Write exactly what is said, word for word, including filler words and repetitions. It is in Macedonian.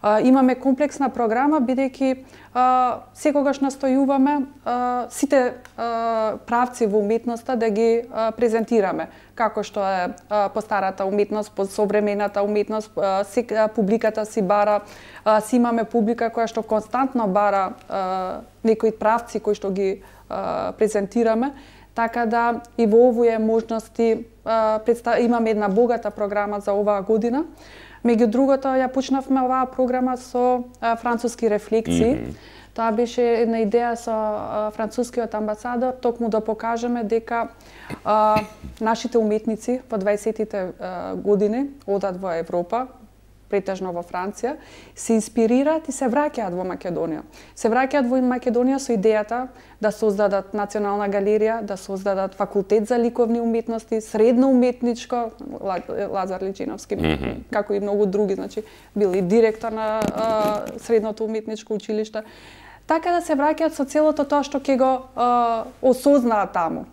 Имаме комплексна програма, бидејќи секогаш настојуваме сите правци во уметноста да ги презентираме, како што е постарата уметност, современата уметност, публиката си бара, си имаме публика која што константно бара некои правци кои што ги презентираме, така да и во овие можности имаме една богата програма за оваа година. Меѓу другото, ја почнавме оваа програма со француски рефлекции. Mm -hmm. Тоа беше една идеја со францускиот амбасадор, токму да покажеме дека а, нашите уметници во дваесеттите години одат во Европа, претежно во Франција, се инспирираат и се враќаат во Македонија. Се враќаат во Македонија со идејата да создадат национална галерија, да создадат факултет за ликовни уметности, средно уметничко, Лазар Личиновски, mm -hmm. како и многу други, значи бил и директор на а, средното уметничко училиште. Така да се враќаат со целото тоа што ќе го а, осознаат таму.